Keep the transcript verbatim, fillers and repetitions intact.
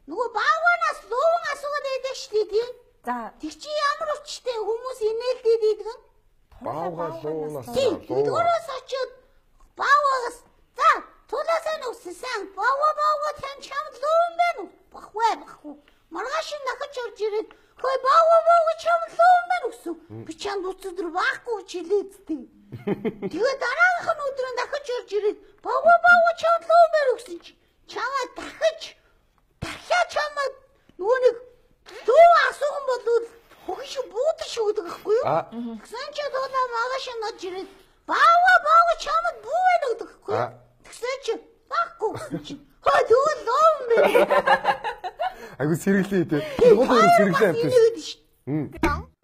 Нөгөө бааванаас луун асуугаад байдаг шүү дээ. За тэр чи ямар учиртай хүмүүс инээлдээд идэгэн? Баавгаа луунаас луунаас очиод бааваас за тулаасаа нүссэн баава баава тань чам луун байна уу? Бахвэ баху. Маргааш нахаж орж ирээд хөөе баава баава чам луун байна уу? Би чам өчигдөр баахгүй чилээдтэй. Тэгээ дараагийнх нь өдөр нахаж орж ирээд баава баава чам луун байна уу гэсэн чи чамаа дахиж дахиад чамаа нөгөө нэг луу асуусан бол хогш буудаж өгдөг байхгүй юу? Тэгсэн чи тулаа магаш нож ирээд баава баава чамд бүү байна гэдэг байхгүй юу? Тэгсэн чи баахгүй гэсэн чи хөө тэгвэл луун байна. Айгу сэргэлээ дээ. Тэгвэл сэргэлээ амтсан.